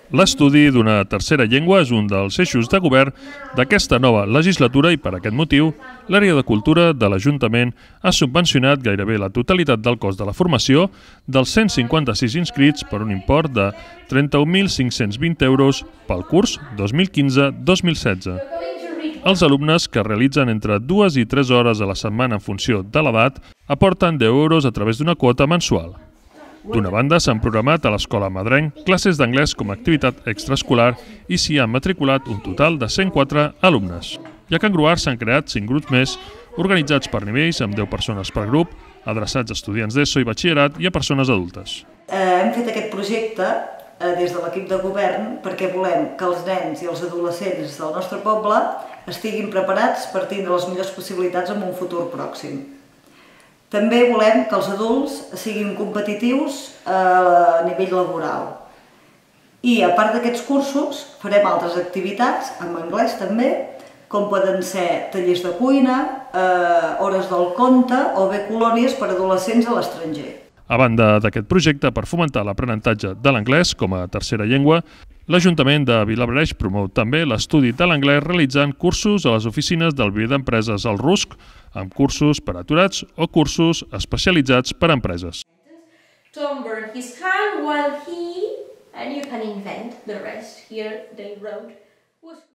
L'estudi d'una tercera llengua és un dels eixos de govern d'aquesta nova legislatura i per aquest motiu l'àrea de cultura de l'Ajuntament ha subvencionat gairebé la totalitat del cost de la formació dels 156 inscrits per un import de 31.520 euros pel curs 2015-2016. Els alumnes, que realitzen entre 2 i 3 hores a la setmana en funció de l'edat, aporten 10 euros a través d'una quota mensual. D'una banda, s'han programat a l'Escola Madrenc classes d'anglès com a activitat extraescolar i s'hi han matriculat un total de 104 alumnes. I a Can Gruar s'han creat 5 grups més, organitzats per nivells amb 10 persones per grup, adreçats a estudiants d'ESO i batxillerat i a persones adultes. Hem fet aquest projecte des de l'equip de govern perquè volem que els nens i els adolescents del nostre poble estiguin preparats per tindre les millors possibilitats en un futur pròxim. També volem que els adults siguin competitius a nivell laboral. I a part d'aquests cursos farem altres activitats, en anglès també, com poden ser tallers de cuina, hores del conte o bé colònies per a adolescents a l'estranger. A banda d'aquest projecte per fomentar l'aprenentatge de l'anglès com a tercera llengua, l'Ajuntament de Vilablareix promou també l'estudi de l'anglès realitzant cursos a les oficines del Viver d'Empreses al RUSC, amb cursos per aturats o cursos especialitzats per a empreses. Tom burned his hand while he, and you can invent the rest here, they wrote, was